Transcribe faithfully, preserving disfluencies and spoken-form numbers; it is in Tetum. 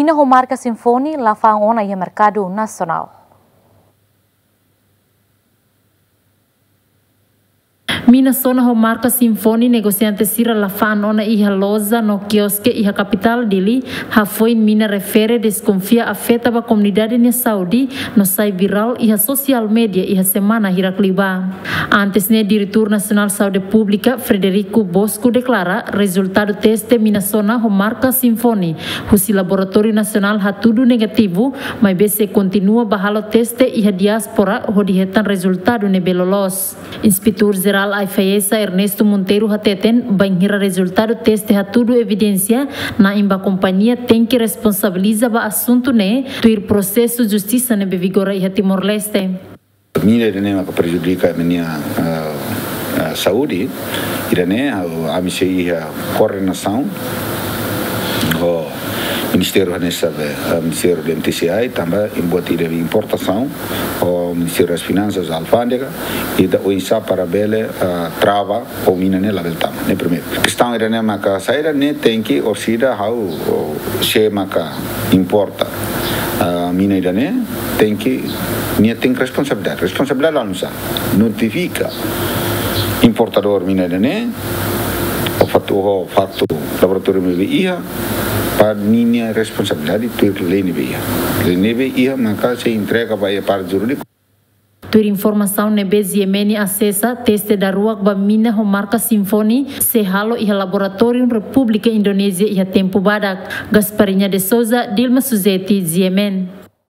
Mina ho marka Symphony la fa'an ona iha merkadu nasionál. Mina sona ho marka Symphony negosiante sira la fa'an ona iha loja no kioske iha kapitál Dili, hafoin mina refere deskonfia afeta ba komunidade nia saúde no sai virál iha sosiál média iha semana hirak liubá. Antes ne'e, Diretór Nasionál Saúde Públika, Frederico Bosco, deklara rezultadu teste mina sona ho marka Symphony husi Laboratóriu Nasionál hatudu negativu, maibé sei kontinua bá halo teste iha diáspora hodi hetan rezultadu ne'ebé loloos. Inspetór Jerál AIFAESA, Ernesto Monteiro, hateten, bainhira rezultadu teste hatudu evidénsia, na'in ba kompañia tenke responsabiliza ba asuntu ne'e, tuir prosesu justisa ne'ebé vigora iha Timor-Leste. Mina ida-ne'e maka prejudika ema nia, ah, ah, saúde, ida-ne'e, ah, ami sei iha koordenasaun ho Ministériu hanesan be, ah, Ministériu de M T C I, tanba buat ida importasaun, ho Ministériu das Finansas, Alfándega, ita oinsá para bele, ah, trava, ho mina ne'e labele tama, ne'e primeiru. Kestaun ida-ne'e maka saida ne'e tenke orsida ha'u, o, sé maka importa, ah, mina ida-ne'e tenke, nia tenke responsabilidade. Responsabilidade la nusa. Notifika importadór mina ida-ne'e, ho faktu, ho faktu laboratóriu ne'ebé iha, para ninia responsabilidade, tuir lei ne'ebé iha. Lei ne'ebé iha, maka sei entrega ba iha parte jurídika. Tuir informasaun ne'ebé G M N asesa, teste daruak ba mina ho marka Symphony sei halo iha laboratóriu Repúblika Indonézia iha tempu badak. Gasparinha de Souza, Dilma Suzeti, G M N.